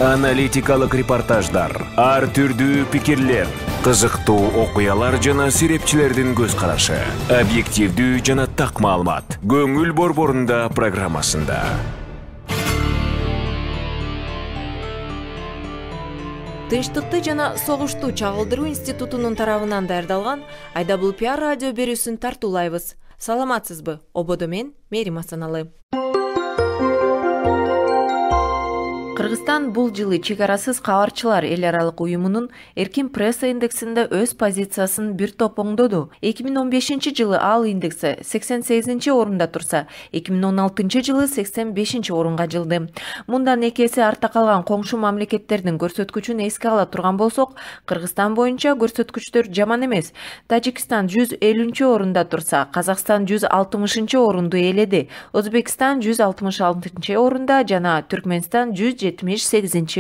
Аналитикалык репортаждар, ар түрдүү пикирлер, кызыктуу окуялар жана серепчилердин көз карашы, объективдүү жана так маалымат. Көңүл борборунда программасында. Тынчтыкты жана согушту чагылдыруу институтунун тарабынан даярдалган IWPR радио берүүсүн тартуулайбыз. Саламатсызбы? Ободо мен Мерим Асаналы. Кыргызстан бул жылы чек-арасыз кабарчылар эл аралык уюмунун эркин пресса индексинде өз позициясын бир топ оңдоду. 2015 жылы ал индекси 88 орунда турса, 2016 жылы 85 орунга жылды. Мындан 2 эсе артта калган коңшу мамлекеттердин көрсөткүчүн эске ала турган болсок, Кыргызстан боюнча көрсөткүчтөр жаман эмес. Тажикстан 150 орунда турса, Казакстан 160 орунду ээледи. Өзбекстан 166 орунда жана Түркмөнстан 178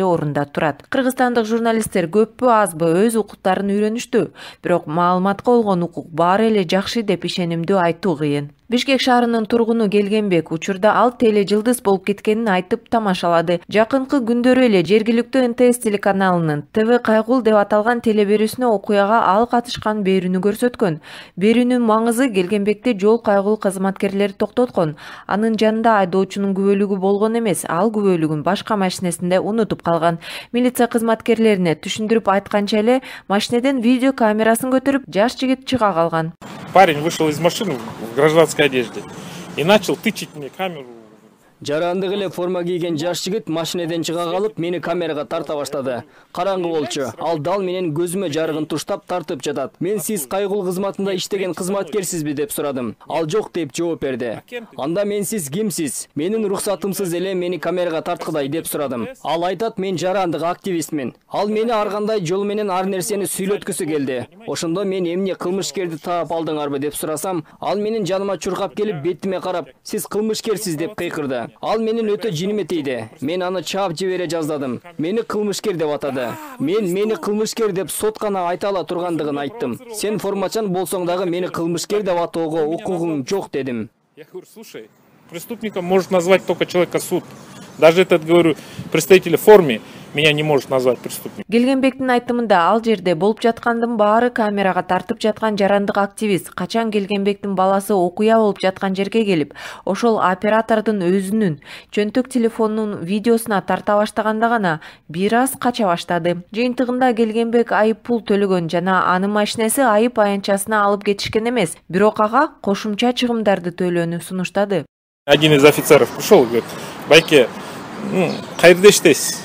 орунда турат. Кыргызстандык журналисттер көппү азбы өз укуктарын үйрөнүштү, бирок маалыматка болгон укук баары эле жакшы деп ишенимдүү айтуу кыйын. Бишкек шаарынын тургуну Келгенбек учурда ал теле жылдыз болуп кеткенин айтып тамашалады. Жакынкы күндөрү эле жергиликтүү НТС телеканалынын ТВ Кайгул деп аталган телеберүүсүнө окуяга ал катышкан берүүнү көрсөткөн. Берүүнүн маңызы Келгенбекте жол кайгул кызматкерлери токтоткон. Анын жанында айдоочунун күбөлүгү болгон эмес, ал күбөлүгүн башка машинесинде унутуп калган. Милиция кызматкерлерине түшүндүрүп айтканча эле машинеден видео камерасын көтөрүп жаш жигит чыга калган. Парень вышел из машины в гражданской одежде и начал тычить мне камеру. Жарандык эле форма кийген жаш жигит машинеден чыга калып, мени камерага тарта баштады. Караңгы болчу. Ал дал менен көзүмө жарыгын туштап тартып жатат. Мен сиз кайгул кызматында иштеген кызматкерсизби деп сурадым. Ал жок деп жооп берди. Анда мен сиз кимсиз? Менин рухсатымсыз эле мени камерага тарткыдай деп сурадым. Ал айтат, мен жарандык активистмин. Ал мени ар кандай жол менен ар нерсени сүйлөткүсү келди. Ошондо мен эмне кылмышкерди таап алдыңарбы деп сурасам, ал менин жаныма чуркап келип бетиме карап, сиз кылмышкерсиз деп кыйкырды. Ал менин өтө жиниме тийди. Мен аны чаап жибере жаздадым. Мени кылмышкер деп атады. Мени кылмышкер деп соткана айта ала тургандыгын айттым. Сен формачан болсоң дагы мени кылмышкер деп атоого укугуң жок дедим. Я говорю, слушай, преступником может назвать только человека суд. Даже этот, говорю, представитель в форме меня не может назвать преступником. Келгенбектин айтымында ал жерде болуп жаткандын баары камерага тартып жаткан жарандык активист качан Келгенбектин баласы окуя болуп жаткан жерге келип, ошол оператордун өзүнүн чөнтөк телефонунун видеосуна тарта баштаганда гана бир аз кача баштады. Жыйынтыгында Келгенбек айып пул төлөгөн жана анын машинеси айып аянтчасына алып кетишкен эмес, бирок ага кошумча чыгымдарды төлөөнү сунуштады. Один из офицеров пришел и говорит: Байке, кайерде иштейсиз?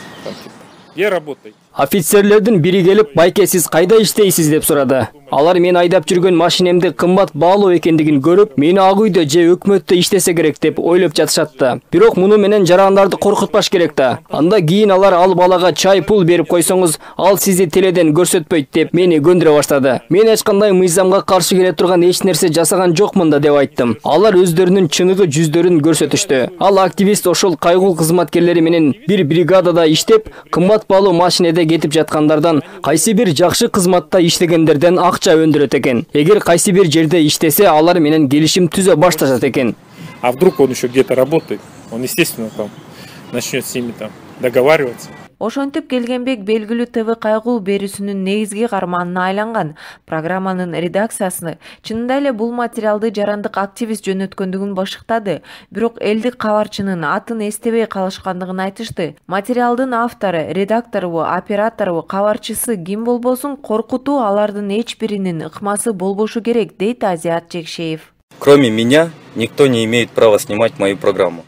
Где работаете? Офицерлердин бири келип, байке сиз кайда иштейсиз деп сурады. Алар мен айдап жүргөн машинемди кымбат баалуу экендигин көрүп, мени ак үйдө же өкмөттө иштесе керек деп ойлоп жатышатты. Бирок муну менен жарандарды коркутпаш керек да. Анда кийин алар ал балага чай пул берип койсоңуз, ал сизди теледен көрсөтпөйт деп мени көндүрө баштады. Мен эч кандай мыйзамга каршы келе турган эч нерсе жасаган жокмун да деп айттым. Алар өздөрүнүн чыныгы жүздөрүн көрсөтүштү. Ал активист ошол кайгул кызматкерлери менен бир бригадада иштеп, кымбат баалуу машинеде кетип жаткандардан, кайсы бир жакшы кызматта иштегендерден акча өндүрөт экен. Эгер кайсы бир жерде иштесе, алар менен келишим түзө башташат экен. А вдруг он еще где-то работает? Он, естественно, там начнет с ними там договариваться. Ошентип Келгенбек белгилүү ТВ Кайгул берүүсүнүн негизги каарманына айланган. Программанын редакциясы чынында эле бул материалды жарандык активист жөнөткөндүгүн башыктады, бирок элдик кабарчынын атын эстебей калышкандыгын айтышты. Материалдын автору, редактору, оператору, кабарчысы ким болбосун коркутуу алардын эч биринин ыкмасы болбошу керек, дейт Азиат Жекшеев. Кроме меня, никто не имеет права снимать мою программу.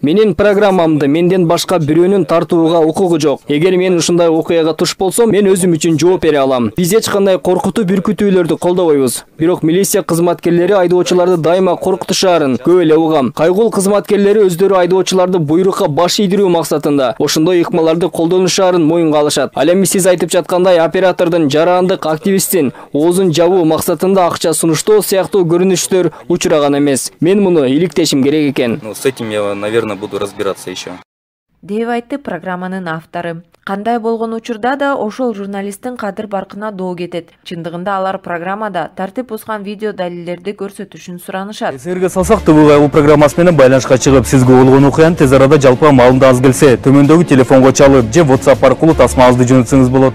Менин программамды менден башка бирөөнүн тартууга укугу жок. Эгер мен ушундай окуяга туш болсом, мен өзүм үчүн жооп бере алам. Биз эч кандай коркутуу бүркүтүүлөрдү колдобойбуз. Бирок милиция кызматкерлери айдоочуларды дайыма коркутушаарын көп эле угам. Кайгул кызматкерлери өздөрү айдоочуларды буйрукка баш ийдирүү максатында ошондой ыкмаларды колдонушаарын моюнга алышат. Ал эми сиз айтып жаткандай оператордун жарандык активисттин оозун жабуу максатында акча сунуштоо сыяктуу көрүнүштөр учураган эмес. Мен муну иликтешим керек экен. С этим я, наверное, буду разбираться еще. деп айтты программанын автору. Кандай болгон учурда да ошол журналисттин кадыр баркына доо кетет. Чындыгында алар программада тартип бузган видео далилдерди көрсөтүшүн суранышат. Эсерге салсак, ТВ программасы менен байланышка чыгып, сизге болгон окуяны тез арада жалпы маалымат аз келсе, төмөндөгү телефонго чалып же WhatsApp аркылуу тасмаңызды жөнөтсөңүз болот.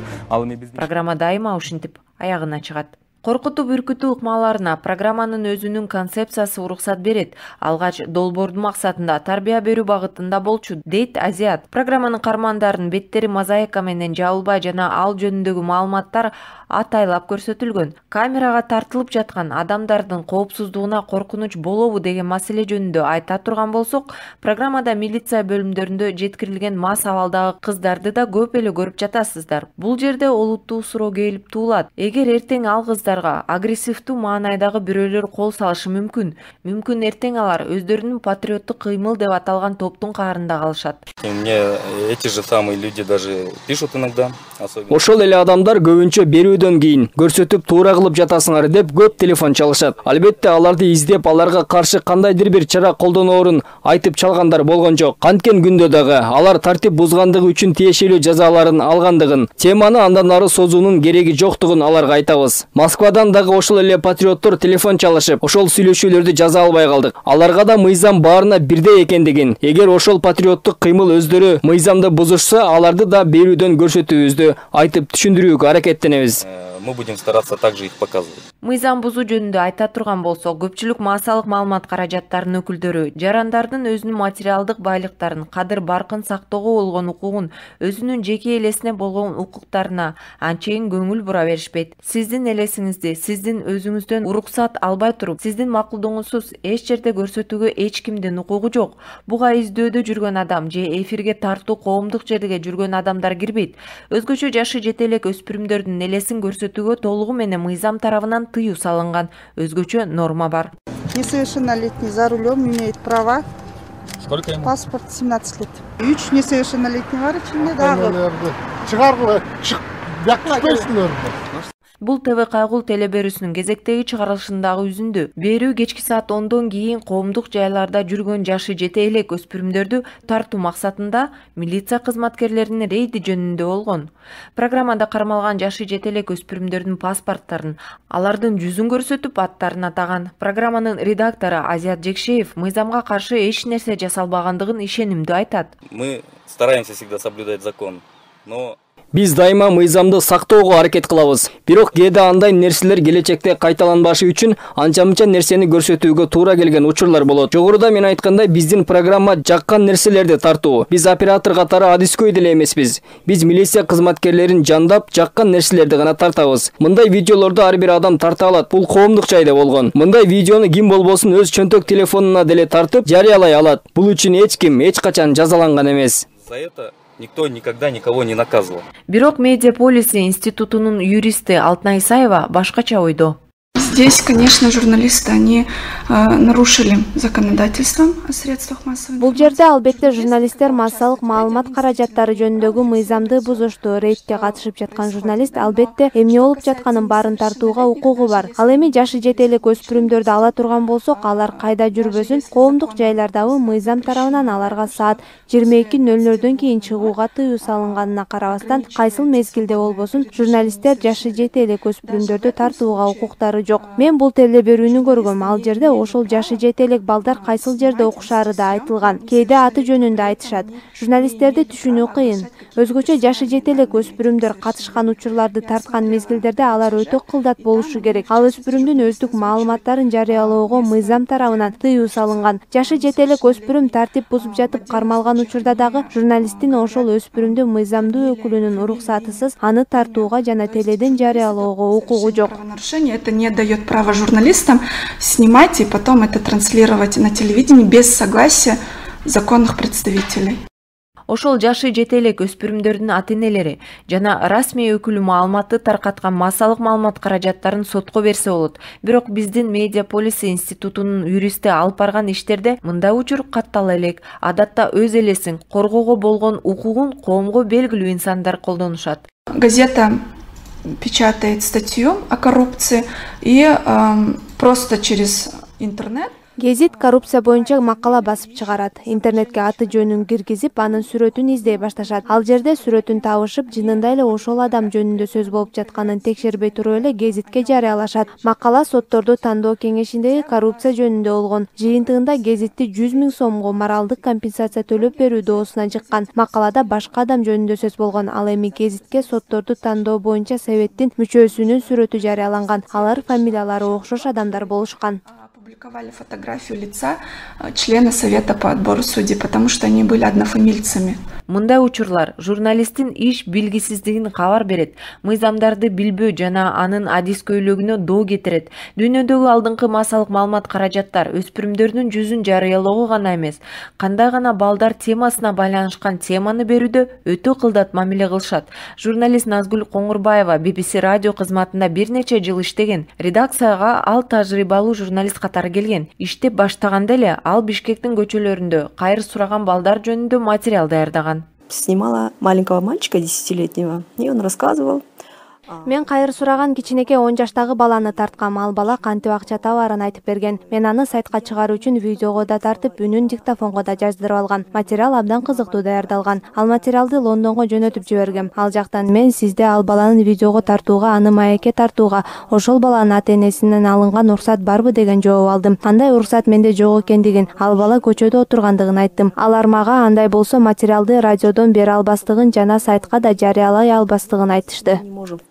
Программа дайыма ушинтип аягына чыгат. Коркутуп үркүтүү ыкмаларына программанын өзүнүн концепциясы уруксат берет. Алгач долбоордун максатында тарбия берүү багытында болчу, дейт Азиат. Программанын кармандарын беттери мозаика менен жабылбай жана ал жөнүндөгү маалыматтар атайлап көрсөтүлгөн. Камерага тартылып жаткан адамдардын коопсуздугуна коркунуч болобу деген маселе жөнүндө айта турган болсок, программада милиция бөлүмдөрүндө жеткирилген мас абалдагы кыздарды да көп эле көрүп жатасыздар. Бул жерде олуттуу суроо келип туулат. Эгер эртең ал кыздарга агрессивдүү маанайдагы бирөөлөр кол салышы мүмкүн. Мүмкүн эртең алар өздөрүнүн патриоттук кыймыл деп аталган топтун каарында калышат. Мне эти же самые люди даже пишут иногда. Ошол эле адамдар көбүнчө берүүдөн кийин көрсөтүп туура кылып жатасыңар деп көп телефон чалышат. Албетте аларды издеп, аларга каршы кандайдыр бир чара колдоноорун айтып чалгандар болгон жок. Канткен күндө дагы алар тартип бузгандыгы үчүн тиешелүү жазаларын алгандыгын, теманы андан ары созуунун кереги жоктугун аларга айтабыз. Москвадан дагы ошол эле патриоттор телефон чалышып, ошол сүйлөшүүлөрдү жаза албай калдык. Аларга да мыйзам баарына бирдей экендигин, эгер ошол патриоттук кыймыл өздөрү мыйзамды бузушса, аларды да берүүдөн көрсөтүүбүздү айтып түшүндүрүүгө аракеттенебиз. Мы будем стараться также их показывать. Мыйзам бузуу жөнүндө айта турган болсок, көпчүлүк массалык маалымат каражаттарынын өкүлдөрү жарандардын өзүнүн материалдык байлыктарын, кадыр баркын сактоого болгон укугун, өзүнүн жеке элесине болгон укуктарына анчейин көңүл бура беришпейт. Сиздин элесиңизди сиздин өзүңүздөн уруксат албай туруп, сиздин макулдугуңузсуз эч жерде көрсөтүүгө эч кимдин укугу жок. Буга издөөдө жүргөн адам же эфирге тартуу коомдук жерге жүргөн адамдар кирбейт. Өзгөчө жашы жете элек өспүрүмдөрдүн элесин көрсөтүүгө толугу менен мыйзам тарабынан тыюу салынган. Өзгөчө норма бар. Несовершеннолетний за рулем имеет права. Сколько ему? Паспорт 17 лет. 3 несовершеннолетний бар içinde дагы. Чыгаргыла, чыкпайсыңдар. Бул ТВ кайгул телеберүүсүнүн кезектеги чыгарылышындагы үзүндү. Берүү кечки саат 10дон кийин коомдук жайларда жүргөн жашы жете элек өспүрүмдөрдү тартуу максатында милиция кызматкерлеринин рейди жөнүндө болгон. Программада кармалган жашы жете элек өспүрүмдөрдүн паспорттарын, алардын жүзүн көрсөтүп аттарын атаган. Программанын редактору Азиат Жекшеев мыйзамга каршы эч нерсе жасалбагандыгын ишенимдүү айтат. Мы стараемся всегда соблюдать закон, но Биз дайыма мыйзамды сактоого аракет кылабыз. Бирок кээде андай нерселер келечекте кайталанбашы үчүн анча-мынча нерсени көрсөтүүгө туура келген учурлар болот. Жогоруда мен айткандай, биздин программа жаккан нерселерди тартуу. Биз оператор катары адискөй деле эмеспиз. Биз милиция кызматкерлерин жандап, жаккан нерселерди гана тартабыз. Мындай видеолорду ар бир адам тарта алат. Бул коомдук жайда болгон. Мындай видеону ким болбосун өз чөнтөк телефонуна деле тартып жарыялай алат. Бул үчүн эч ким эч качан жазаланган эмес. За это никто никогда никого не наказывал. Бирок Медиаполиси институтунун юристи Алтынай Исаева башкача ойдо. Здесь, конечно, журналисты, они нарушили законодательство о средствах массовой информации. Бул жерде албетте журналисттер массалык маалымат каражаттары жөнүндөгү мыйзамды бузушту. Рейдке катышып жаткан журналист албетте эмне болуп жатканын баарын тартууга укугу бар. Ал эми жашы жете элек өспүрүмдөрдү ала турган болсок, алар кайда жүрбөсүн, коомдук жайлардагы мыйзам тарабынан аларга саат 22:00дөн кийин чыгууга тыюу салынганына карабастан, кайсыл мезгилде болбосун журналисттер жашы жете элек өспүрүмдөрдү тартууга укуктары жок. Мен бул телеберүүнү көргөм. Ал жерде ошол жашы жете элек балдар кайсыл жерде окушары да айтылган. Кээде аты жөнүндө айтышат. Журналисттерди түшүнүү кыйын. Өзгөчө жашы жете элек өспүрүмдөр катышкан учурларды тарткан мезгилдерде алар өтө кылдат болушу керек. Ал өспүрүмдүн өздүк маалыматтарын жарыялоого мыйзам тарабынан тыюу салынган. Жашы жете элек өспүрүм тартип бузуп жатып кармалган учурда дагы журналисттин ошол өспүрүмдү мыйзамдуу өкүлүнүн уруксатысыз аны тартууга жана теледен жарыялоого укугу жок. Это не дает права журналистам снимать и потом это транслировать на телевидении без согласия законных представителей. Ошол жашы жете элек өспүрүмдөрдүн ата-энелери жана расмий өкүлү маалыматты таркаткан массалык маалымат каражаттарын сотко берсе болот. Бирок биздин Медиаполиси институтунун юристи алып барган иштерде мындай учур каттала элек. Адатта өз элесин коргоого болгон укугун коомго белгилүү инсандар колдонушат. Газета печатает статью о коррупции и просто через интернет Гезит коррупция боюнча макала басып чыгарат. Интернетке аты жөнүн киргизип, анын сүрөтүн издей башташат. Ал жерде сүрөтүн табышып, жынында эле ошол адам жөнүндө сөз болуп жатканын текшербей туруп эле гезитке жарыялашат. Макала сотторду тандоо кеңешиндеги коррупция жөнүндө болгон. Жыйынтыгында гезитти 100 000 сомго моралдык компенсация төлөп берүү доосуна жыккан. Макалада башка адам жөнүндө сөз болгон. Ал эми гезитке сотторду тандоо боюнча советтин мүчөсүнүн сүрөтү жарыяланган. Алар фамилиялары окшош адамдар болушкан. Опубликовали фотографию лица члена совета по отбору судей, потому что они были однофамильцами. Мындай учурлар журналисттин иш билгисиздигин кабар берет, мыйзамдарды билбөө жана анын адискөйлүгүнө доо кетирет. Дүйнөдөгү алдыңкы массалык маалымат каражаттар өспүрүмдөрдүн жүзүн жарыялоого гана эмес, кандай гана балдар темасына байланышкан теманы берүүдө өтө кылдат мамиле кылышат. Журналист Назгүл Коңурбаева BBC радио кызматында бир нече жыл иштеген. Редакцияга ал тажрыйбалуу журналист катары келген. Иштеп баштаганда эле ал Бишкектин көчөлөрүндө кайыр сураган балдар жөнүндө материал даярдаган. Снимала маленького мальчика 10-летнего, и он рассказывал. Мен кайыр сураган кичинекей 10 жаштагы баланы тарткам. Ал бала кантип акча табаарын айтып берген. Мен аны сайтка чыгаруу үчүн видеого да тартып, үнүн диктофонго да жаздырып алган. Материал абдан кызыктуу даярдалган. Ал материалды Лондонго жөнөтүп жибергем. Ал жактан мен сизде ал баланы видеого тартууга, аны маекке тартууга, ошол баланын ата-энесинен алынган уруксат барбы деген жооп алдым. Андай уруксат менде жок экендигин, ал бала көчөдө отургандыгын айттым. Алар мага андай болсо материалды радиодон бере албастыгын жана сайтка да жарыялай албастыгын айтышты.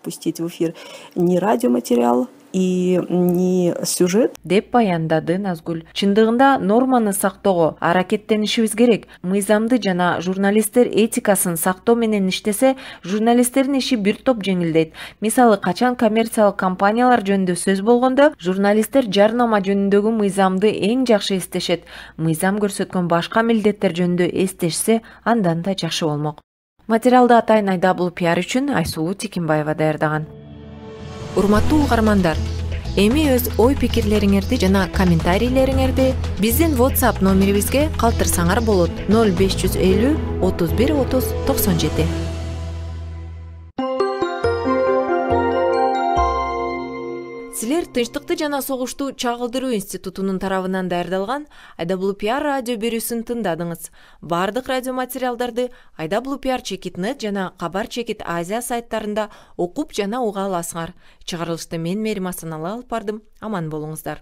Пустить в эфир ни радиоматериал и не сюжет. Деп баяндады Назгүл. Чындыгында норманы сактоого аракеттенишибиз керек. Мыйзамды жана журналисттер этикасын сактоо менен иштесе, журналисттердин иши бир топ жеңилдейт. Мисалы, качан коммерциялык компаниялар жөнүндө сөз болгондо, журналисттер жарнама жөнүндөгү мыйзамды эң жакшы эстешет. Мыйзам көрсөткөн башка милдеттер жөнүндө эстешсе, андан да жакшы болмок. Материалды атайын IWPR үчүн Айсулуу Текинбаева даярдаган. Урматтуу угармандар, эми өз ой-пикирлериңерди жана комментарийлериңерди биздин WhatsApp номерибизге калтырсаңар болот. 0550 31 30 97. Силер Тынчтыкты жана согушту чагылдыруу институтунун тарабынан даярдалган IWPR радио берүүсүн тыңдадыңыз. Бардык радио материалдарды IWPR-Чекит.net жана Кабар Чекит Азия сайттарында окуп жана уга аласыңар. Чыгарылышты мен Мерим Асаналы алып бардым. Аман болуңуздар.